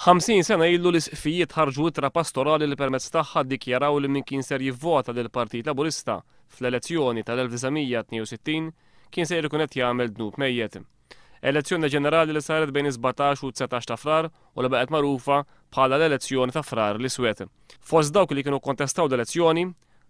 50 sena ilu l-isqfijiet ħarġu ittra pastorali li permezz tagħha ddikjaraw li min kien ser jivvota lill-Partit Laburista fl-elezzjoni tal-1962 kien sejjer ikun qed jagħmel dnub mejjet. Elezzjoni ġenerali li saret bejn is-17 u 19 ta' Frar u li baqgħet magħrufa bħala l-elezzjoni ta' Frar l-Iswed. Fost dawk li kienu kkontestaw l-elezzjoni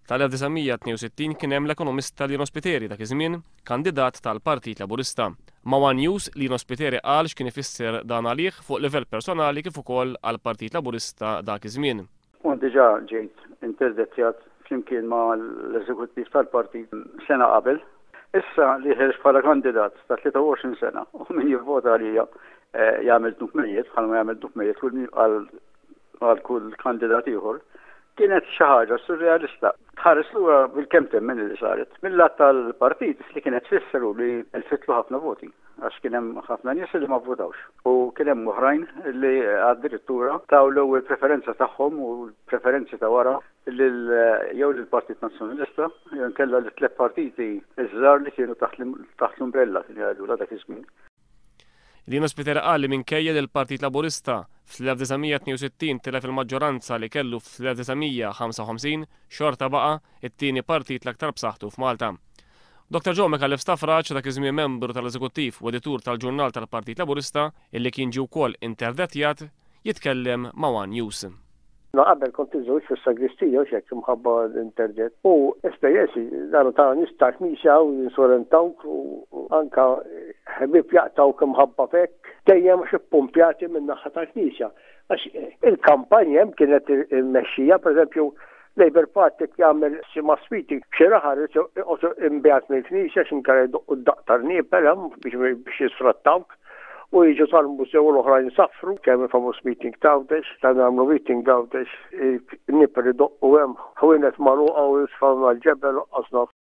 tal-1962 kien hemm l-ekonomista Lino Spiteri dak iż-żmien kandidat tal-Partit Laburista. Ma' one News, Lino Spiteri qal x'kien ifisser dan għalih fuq livell personali kif ukoll għall-Partit Laburista dak iż-żmien. Kont diġà ġejt interdettjat flimkien ma' l-eżekuttiv tal-partit sena qabel. Issa li ħerġt bħala kandidat ta' 23 sena u min jivvota għalija eh, jagħmel dnub mejjet bħalma jagħmel dnub mejjet għal kull kandidat ieħor, kienet xi ħaġa surrealista. Tħares lura bil-kemm temmen li saret. Mill-lat tal-partit li kienet tfisser hu li elfitlu ħafna voti għax kien hemm ħafna nies li ma vvotawx u kien hemm oħrajn li addirittura taw l-ewwel preferenza tagħhom u l-preferenzi ta' wara lil jew lill-Partit Nazzjonalista jew inkella lit tliet partiti ż-żgħar li kienu taħt l-umbrella kien jgħidulha dak iż-żmien. Lino Spiteri qal li minkejja li l-Partit Laburista fl-1962 tilef il-maġġoranza li kellu fl-1955 xorta baqa' it-tieni partit l-aktar b'saħħtu f'Malta. Dottor Joe Micallef Stafrace, dak iż-żmien membru tal-Eżekuttiv u editur tal-ġurnal tal-Partit Laburista, illi kien ġie wkoll interdettjat, jitkellem ma' one News. Jiena qabel kont iżżewwiġt fis-sagristija hux hekk imħabba l-interdett. U esperjenzi daru ta' nies ta' knisja u jinsolentawk u anka ħbieb jaqtgħuk imħabba f'hekk. Dejjem għax ippumpjati min-naħa tal-knisja. Għax il-kampanja hemm kienet immexxija, pereżempju, Labour Party jekk jagħmel xi mass meeting f'xi raħal irid joqgħod imbiegħed mill-knisja għax inkella jdoqqu d-daqq tal-qniepel hemm biex jisfrattawk u jiġu tal-mużew u l-oħrajn isaffru kemm il-famuż meeting t'Għawdex, ta' nagħmlu meeting Għawdex, il-qniepel idoqqu hemm, ħwienet magħluqa u jisfgħu mal-ġebel u qas naf.